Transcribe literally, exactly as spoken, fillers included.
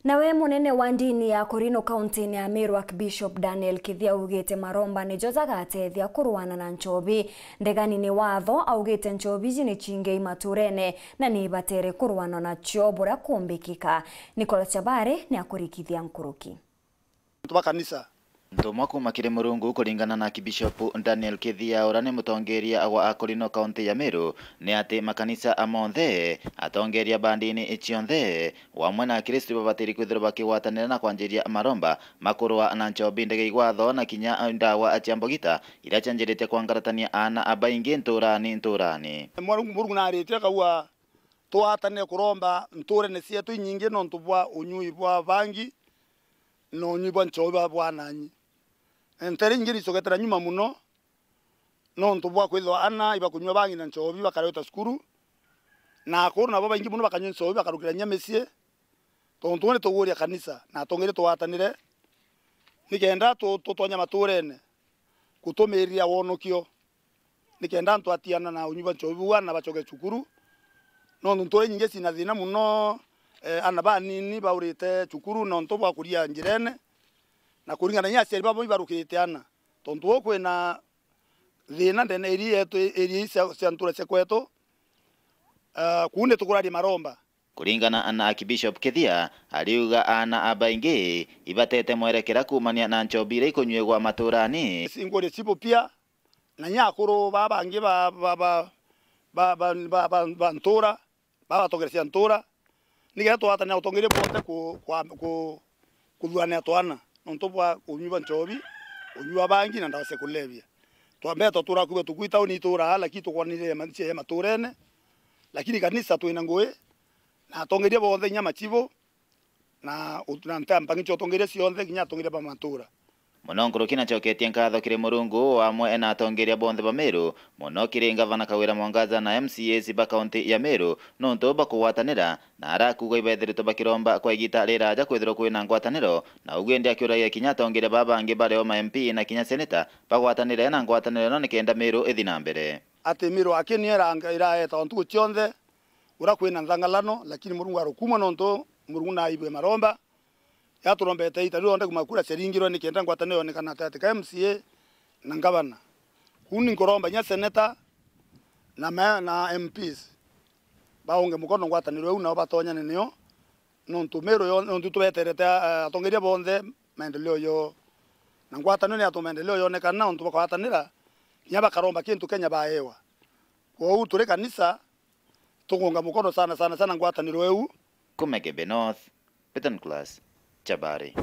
Nawe munene wa ndini ya Korino kaunti-ini ya Meru, Archbishop Daniel Kithia, augite maromba nijo jagateethia kurwana na nchobi. Ndegani ni watho, augite nchobi iji ni chingi i maturene na ni ibatere kurwanwa nacio buria kumbikika. Nicholas Chabare ni akurikithia nkuruki. Antu ba kanisa. Ntumwa kuuma kiri Murungu, kuringana na Archbishop Daniel Kithia, uria ni mutongeria wa Akorino kaunti ya Meru, ni ati makanisa a monthe, atongeria ba ndini cionthe, o amwe na Akristu babatiri kwithirwa bakigwatanira na kwanjiria maromba ma kurwa na nchobi, ndege igwatho na kinya ndawa cia mbogita iria cianjirite kwangaratania aana abaingi nturani nturani. Murungu, Murungu naritie akauga twatanire kuromba nturene cietu inyingi nontu bwa unyui bwa bangi na unyui bwa nchobi bwa, bwa ananyi. Ntere ingi nicoketere nyuma muno nontu bwa kwithirwa ana ibakunyua bangi na nchobi bakareta cukuru, na akuru nabo baingi muno bakanyua nchobi bakarukira inya micii. Tontu ni tuguria kanisa na atongeria twatanire nikenda tu-, tutonye maturene kutumiria wonokio. Nikenda antu atiana na unyui bwa nchobi buu, ana bacoke cukuru. Nontu ntuura inyingi cina thiina muno, eh, ana banini baurite cukuru nontu bwa kuria njirene, na kuringana na aciari babo ibarukite ana. Tontu uu kwina thiina ndene area yetu, area ii cia, cia ntuura cia kwetu, eh, kuu nitukuraria maromba. Kuringana na Archbishop Kithia, ariuga aana abaingi ibatete mwerekera kuumania na nchobi iria ikunyuigwa matuurani. Singuria cibu pia, na inya akuru baa bangi ba, ba, ba ntuura, baa batongeria cia ntuura, nikenda twatanira utongeria bwonthe ku, kwa, ku, kuthuranira twana nontu bwa unyui bwa nchobi, unyui bwa bangi na ndawa cia kulevya. Twambere twatuura kuo tuku itauni ituura, lakini tukwanire ma-, cia matuurene, lakini kanisa twina ngui, na atongeria bonthe, inya machibu, na ut-, na nta-, mpangi cia utongeria cionthe, kinya atongeria ba matuura. Muno nkuruki nacoketie nkatho kiri Murungu o amwe na atongeria bonthe ba Meru, muno kiri Ngavana Kawira Mwangaza na M C As ba kaunti ya Meru, nontu bakugwatanira, na arakuuga ibeethiritwe bakiromba kwa igiita riraja kwithirwa kwina ngwataniro, na ugu indi akiuragia kinya atongeria baa bangi bari o ma M P na kinya seneta bagwatanire na ngwataniro ino nikenda Meru ithi na mbere. Ati Meru aki niyo iranga-, iraeta o ntuku cionthe uria kwina nthangalano, lakini Murungu arukuuma nontu Murungu naibwe maromba. Yaturombete iita rionthe kuma kura ciaringirwe nikenda ngwataniro yonekana gatagatĩ ka M C A na ngavana. Kuu ni nkuromba inya seneta na ma-, na M Ps baunge mukono ngwataniro iu, nao batonyane nio, nontu Meru yo-, nontu tubeterete, eh, atongeria bonthe maendeleo yoo. Na ngwataniro ni yatuma maendeleo yonekana, nontu bakwatanira, kinya bakaromba kintu Kenya baewa. Kwou turi kanisa, tukunga mukono sana, sana, sana ngwataniro iu. Kuma Igembe North, Peter Nicholas, Chabari.